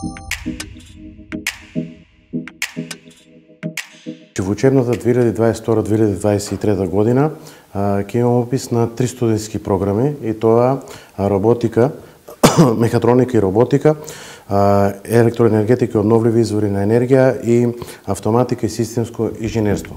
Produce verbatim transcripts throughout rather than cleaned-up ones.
Во учебната две илјади дваесет и втора - две илјади дваесет и трета година ќе имам опис на три студентски програми, и тоа роботика, мехатроника и роботика, електроенергетика и обновливи извори на енергија и автоматика и системско инженерство.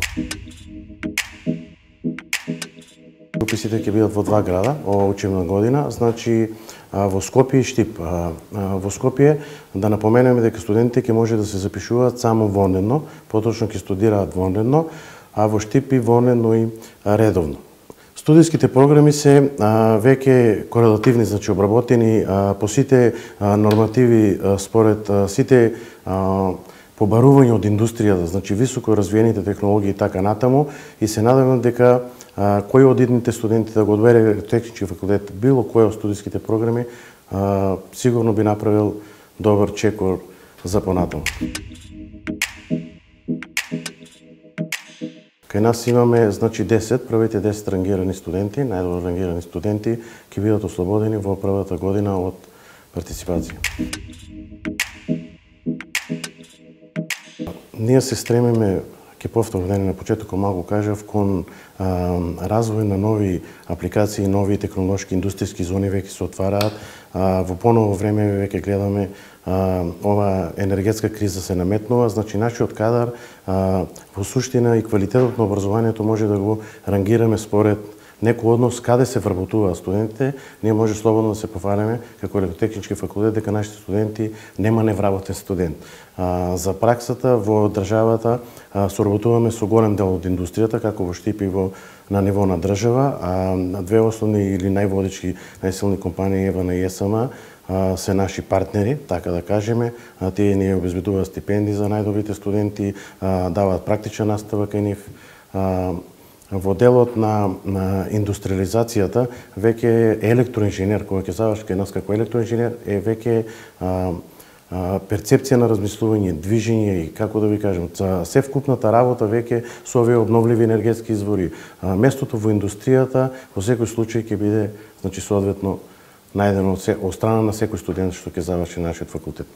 Уписите ќе бидат во два града ова учебна година, значи во Скопје и Штип. Во Скопје да напоменеме дека студентите ќе може да се запишуваат само вонредно, поточно ќе студираат вонредно, а во Штип и вонредно и редовно. Студиските програми се веќе корелативни, значи обработени по сите нормативи според сите побарувања од индустријата, значи високо развиените технологии и така натаму, и се надевам дека кој од идните студенти да го одбере технички факултет, било кој од студиските програми, сигурно би направил добар чекор за понатаму. Кај нас имаме, значи, десет, првите десет рангирани студенти, најдобро рангирани студенти, ќе бидат ослободени во првата година од партиципација. Ние се стремиме, ќе повторам на почетокот малку кажав, кон а, развој на нови апликации, нови технолошки индустријски зони веќе се отвараат. А, во поново време веќе гледаме а, ова енергетска криза се наметнува, значи нашиот кадар а, во суштина и квалитетот на образованието може да го рангираме според некој однос каде се вработуваат студентите. Ние може слободно да се пофалиме како електротехнички факултет дека нашите студенти нема невработен студент. А, за праксата во државата а, соработуваме со голем дел од индустријата, како во Штип и во на ниво на држава, а две основни или најводечки, најсилни компании ЕВН и ЕСМ а, се наши партнери, така да кажеме. А, тие ни обезбедуваат стипендии за најдобрите студенти, а, даваат практична настава кај нив. А, Во делот на, на индустриализацијата, веќе електроинженер, кој ќе заврши кај нас како електроинженер, е веќе а, а, перцепција на размислување, движење и, како да ви кажем, за се вкупната работа веќе со овие обновливи енергетски извори. А, местото во индустријата во секој случај ќе биде, значи, соодветно најдено од, од страна на секој студент што ќе заврши нашиот факултет.